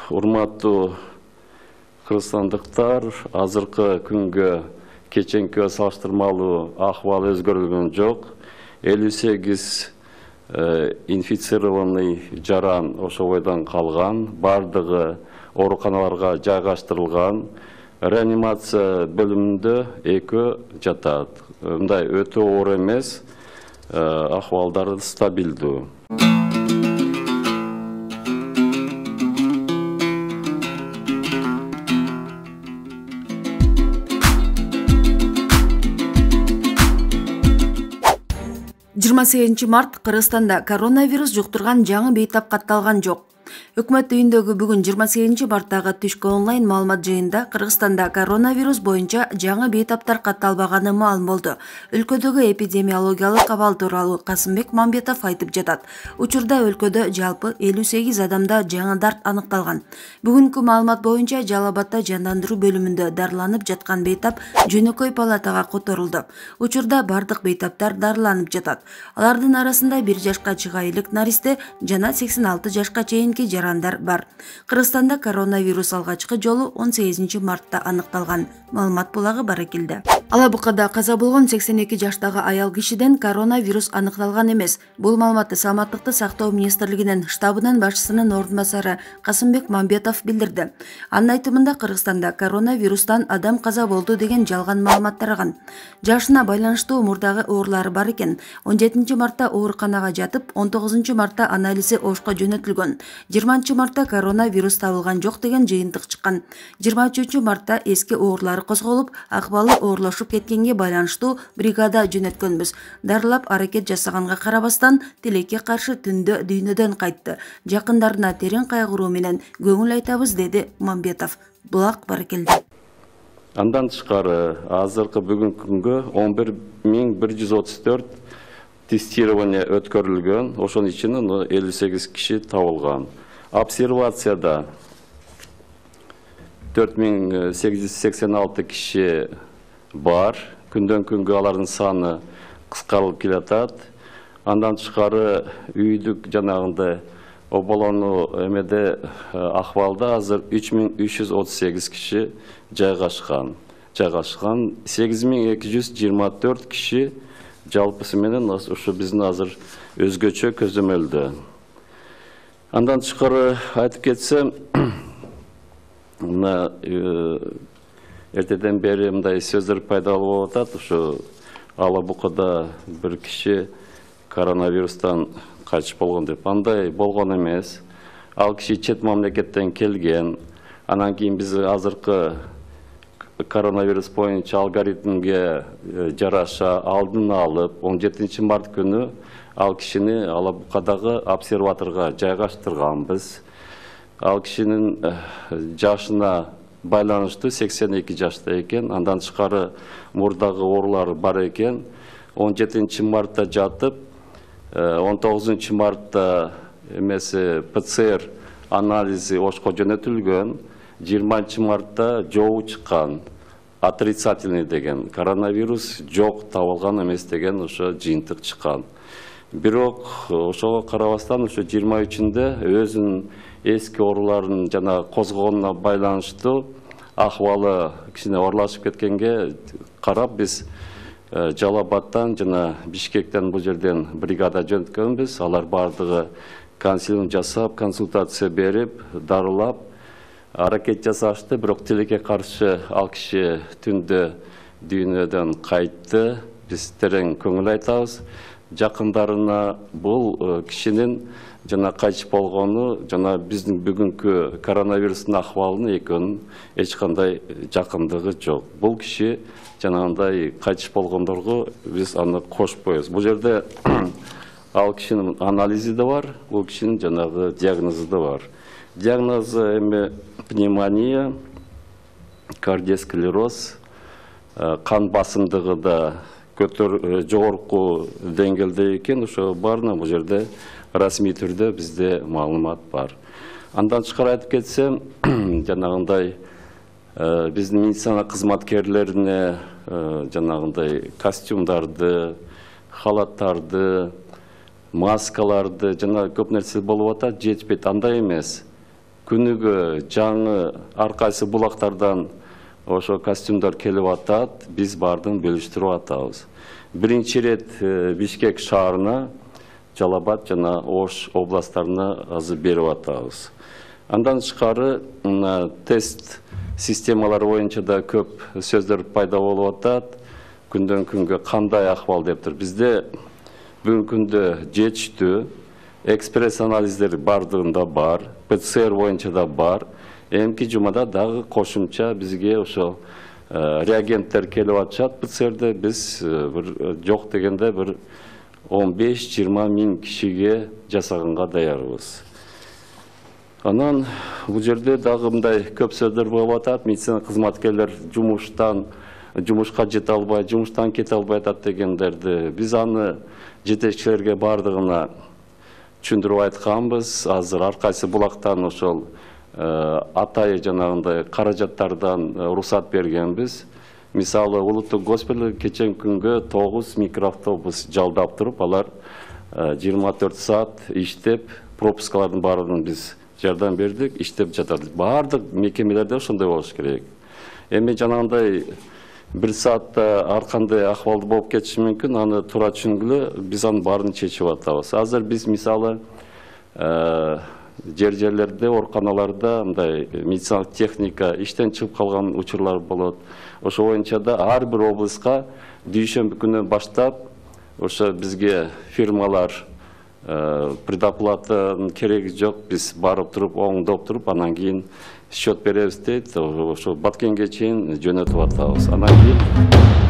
урматтуу кыргызстандыктар, азыркы күнгө кеченкиге салыштырмалуу ахвал өзгөрүлгөн жок. 58 инфицированный жаран ошол бойдон калган, бардыгы ооруканаларга жайгаштырылган. Реанимация бөлүмүндө 2 жатат. Мындай өтө оор эмес, ахвалдары стабилдүү. Март Кыргызстанда коронавирус жуктурган жаңы бейтап катталган жок. Өкмөт үйүндөгү бүгүн 28 марттагы түшкү онлайн маалымат жыйынында Кыргызстанда коронавирус боюнча жаңы бейтаптар катталбаганы маалым болду. Өлкөдөгү эпидемиологиялык абал тууралуу Касымбек Мамбетов айтып жатат. Учурда өлкөдө жалпы 58 адамда жаңы дарт аныкталган. Бүгүнкү маалымат боюнча Жалал Абадда жандандыруу бөлүмүндө дарыланып жаткан бейтап жөнөкөй палатага которулду. Учурда бардык бейтаптар дарыланып жатат. Алардын арасында 1 жашка чыга элек наристе жана 86 жашка чейинки жарандар бар. Кыргызстанда коронавирус алгачкы жолу 18 мартта аныкталган. Маалымат булагы Баракелде. Алабукада каза болгон 82 жаштагы аял кишиден коронавирус аныкталган эмес. Бул маалыматты Саламаттыкты сактоо министрлигинин штабынын башчысынын ордун басары Касымбек Мамбетов билдирди. Анын айтымында Кыргызстанда коронавирустан адам каза болду деген жалган маалымат тараган. Жашына байланыштуу мурдагы оорулары бар экен. 17 мартта ооруканага жатып, 19 мартта анализи Ошко жөнөтүлгөн. 20 мартта коронавирус табылган жок деген жыйынтык чыккан. 23 мартта эски оорулары козголуп, акыбалы оорлошуп кеткенге байланыштуу бригада жөнөткөнбүз. Дарылап аракет жасаганга карабастан тилекке каршы түндө дүйнөдөн кайтты. Жакындарына терең кайгыруу менен көңүл айтабыз, деди Мамбетов. Булак Баракелде. Андан тышкары азыркы бүгүнкү күнгө 11134 тестирование өткөрүлгөн. Ошонун ичинен 58 киши табылган. Обсервацияда 4886 киши бар. Күндөн күнгө алардын саны кыскарылып келатат. Андан тышкары үйдүк жанагындай оболонуу эмеде акыбалда азыр 3338 киши жайгашкан. 8224 киши жалпысы менен ушу биздин азыр өзгөчө көзөмөлдө. Андан тышкары айтып кетсем, мына эртеден бери мындай сөздөр пайда болуп атат. Ушу Алабукада бир киши коронавирустан кайтыш болгон деп. Андай болгон эмес. Ал киши чет мамлекеттен келген. Анан кийин биз азыркы коронавирус боюнча алгоритмге жараша алдын алып, 17 март күнү ал кишини Алабукадагы обсерваторго жайгаштырганбыз. Ал кишинин жашына байланыштуу 82 жашта экен. Андан тышкары мурдагы оорулары бар экен. 17 мартта жатып, 19 мартта эмеси ПЦР анализи Ошко жөнөтүлгөн. 20 мартта жообу чыккан, отрицательный деген, коронавирус жок, табылган эмес деген ошо жыйынтык чыккан. Бирок ошого карабастан ошо 23-нде өзүнүн эски ооруларын жана козгогонуна байланыштуу акыбалы кичине оорлашып кеткенге карап биз Жалал Абадтан жана Бишкектен бул жерден бригада жөнөткөнбүз. Алар бардыгы консилиум жасап, консультация берип, дарылап, аракет жасашты. Бирок тилекке каршы ал киши түндө дүйнөдөн кайтты. Биз терең көңүл айтабыз. Жакындарына бул кишинин жана кайтыш болгону жана биздин бүгүнкү коронавирустун акыбалынын экөөнүн эч кандай жакындыгы жок. Бул киши жанагындай кайтыш болгондорго биз аны кошпойбуз. Бул жерде ал кишинин анализи да бар, бул кишинин жанагы диагнозу да бар. Диагнозу эми пневмония, кардиосклероз, кан басымдыгы да жогорку деңгээлде экен. Ошо баарына бул жерде расмий түрдө бизде маалымат бар. Андан тышкары айтып кетсем, жанагындай биздин медицина кызматкерлерине жанагындай костюмдарды, халаттарды, маскаларды жана көп нерсе болуп атат, жетпейт. Андай эмес. күнүгө жаңы ар кайсы булактардан ошо костюмдар келип атат, биз баардыгын бөлүштүрүп атабыз. Биринчи ирет Бишкек шаарына, Жалал Абад жана Ош областтарына азыр берип атабыз. Андан тышкары тест системалары боюнча да көп сөздөр пайда болуп атат. Күндөн күнгө кандай акыбал дептир. Бизде бүгүнкү күндө жетиштүү экспресс анализдер бардыгында бар, ПЦР боюнча да бар. Эмки жумада дагы кошумча бизге ошо реагенттер келип атышат. ПЦРде биз жок дегенде бир 15-20 миң кишиге жасаганга даярбыз. Анан бул жерде дагы мындай көп сөздөр болуп атат. Медицина кызматкерлер жумушка жете албай, жумуштан кете албай атат дегендерди. Биз аны жетекчилерге бардыгына түшүндүрүп айтканбыз. Азыр ар кайсы булактан ошол атайы жанагындай каражаттардан уруксат бергенбиз. Мисалы, улуттук госпиталь кечен күнгө 9 микроавтобус жалдап туруп, алар 24 саат иштеп, пропускалардын баарын биз жардам бердик, иштеп жатат. Баардык мекемелерде ошондой болуш керек. Эми жанагындай 1 саатта ар кандай акыбалды болуп кетиши мүмкүн, аны туура түшүнгүлө, биз анын баарын чечип атабыз. Азыр биз мисалы жерлерде, ооруканаларда мындай медициналык техника иштен чыгып калган учурлар болот. Ошо боюнча да ар бир облуска дүйшөмбү күнү баштап ошо бизге фирмалар предоплата кереги жок, биз барып туруп, оңдоп туруп, анан кийин счет беребиз дейт. Ошо баткенге чейин жөнөтүп атабыз. Анан кийин